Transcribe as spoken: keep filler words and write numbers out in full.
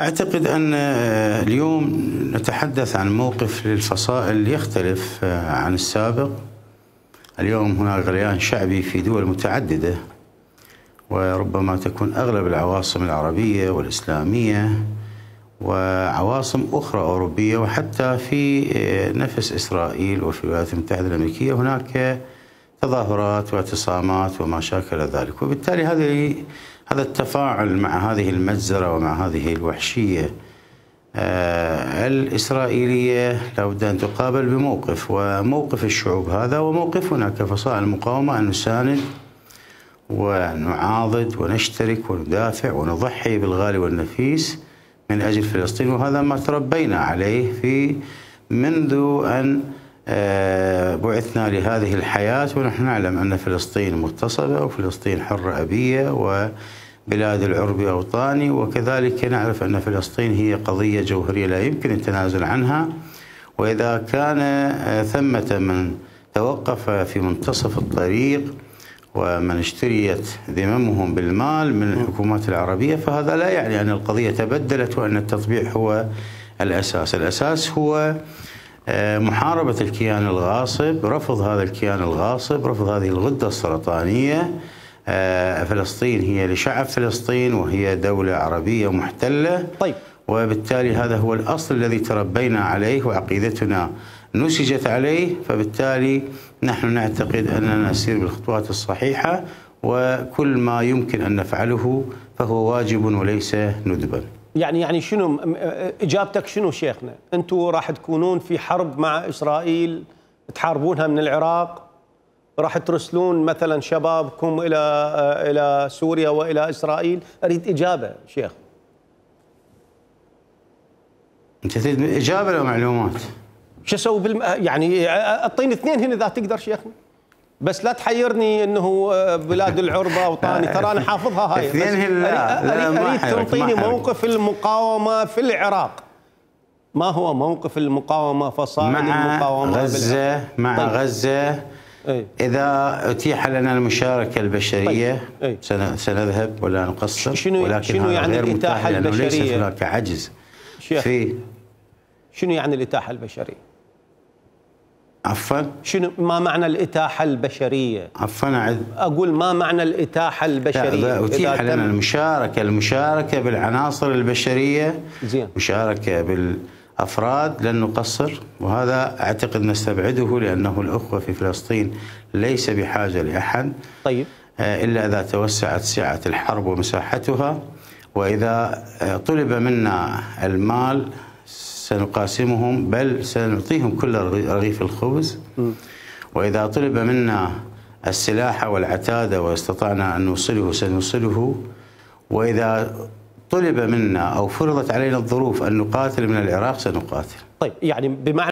أعتقد أن اليوم نتحدث عن موقف للفصائل يختلف عن السابق. اليوم هناك غليان شعبي في دول متعددة، وربما تكون أغلب العواصم العربية والإسلامية وعواصم أخرى أوروبية وحتى في نفس إسرائيل وفي الولايات المتحدة الأمريكية هناك تظاهرات واعتصامات وما شاكل ذلك، وبالتالي هذه هذا التفاعل مع هذه المجزرة ومع هذه الوحشية آه الإسرائيلية لابد أن تقابل بموقف، وموقف الشعوب هذا وموقفنا كفصائل المقاومة أن نساند ونعاضد ونشترك وندافع ونضحي بالغالي والنفيس من أجل فلسطين، وهذا ما تربينا عليه في منذ أن بعثنا لهذه الحياة، ونحن نعلم أن فلسطين مغتصبة وفلسطين حرة أبية وبلاد العرب أوطاني، وكذلك نعرف أن فلسطين هي قضية جوهرية لا يمكن التنازل عنها. وإذا كان ثمة من توقف في منتصف الطريق ومن اشتريت ذممهم بالمال من الحكومات العربية، فهذا لا يعني أن القضية تبدلت وأن التطبيع هو الأساس. الأساس هو محاربة الكيان الغاصب، رفض هذا الكيان الغاصب، رفض هذه الغدة السرطانية. فلسطين هي لشعب فلسطين وهي دولة عربية محتلة. طيب. وبالتالي هذا هو الأصل الذي تربينا عليه وعقيدتنا نسجت عليه، فبالتالي نحن نعتقد أننا نسير بالخطوات الصحيحة، وكل ما يمكن أن نفعله فهو واجب وليس ندبا. يعني يعني شنو اجابتك شنو شيخنا؟ انتم راح تكونون في حرب مع اسرائيل تحاربونها من العراق؟ راح ترسلون مثلا شبابكم الى الى سوريا والى اسرائيل؟ اريد اجابه شيخ. انت تريد اجابه لو معلومات؟ شو اسوي بالم... يعني اعطيني اثنين هنا اذا تقدر شيخنا، بس لا تحيرني انه بلاد العربة اوطاني، ترى انا حافظها هاي. اثنين لا اريد, أريد تنطيني موقف المقاومة في العراق. ما هو موقف المقاومة فصائل المقاومة مع غزة مع طيب. غزة أي. إذا أتيح لنا المشاركة البشرية طيب. سنذهب ولا نقصر، شنو ولكن شنو يعني غير الإتاحة البشرية؟ ليس هناك عجز شيخ. في شنو يعني الإتاحة البشرية؟ عفوا؟ شنو ما معنى الإتاحة البشرية؟ عفوا أعد. أقول ما معنى الإتاحة البشرية؟ إذا أتيح لنا المشاركة المشاركة بالعناصر البشرية، زين. مشاركة بالأفراد لن نقصر، وهذا أعتقد نستبعده لأنه الأخوة في فلسطين ليس بحاجة لأحد. طيب. إلا إذا توسعت سعة الحرب ومساحتها، وإذا طلب منا المال سنقاسمهم، بل سنعطيهم كل رغيف الخبز. م. وإذا طلب منا السلاح والعتادة واستطعنا أن نوصله سنوصله، وإذا طلب منا أو فرضت علينا الظروف أن نقاتل من العراق سنقاتل. طيب، يعني بمعنى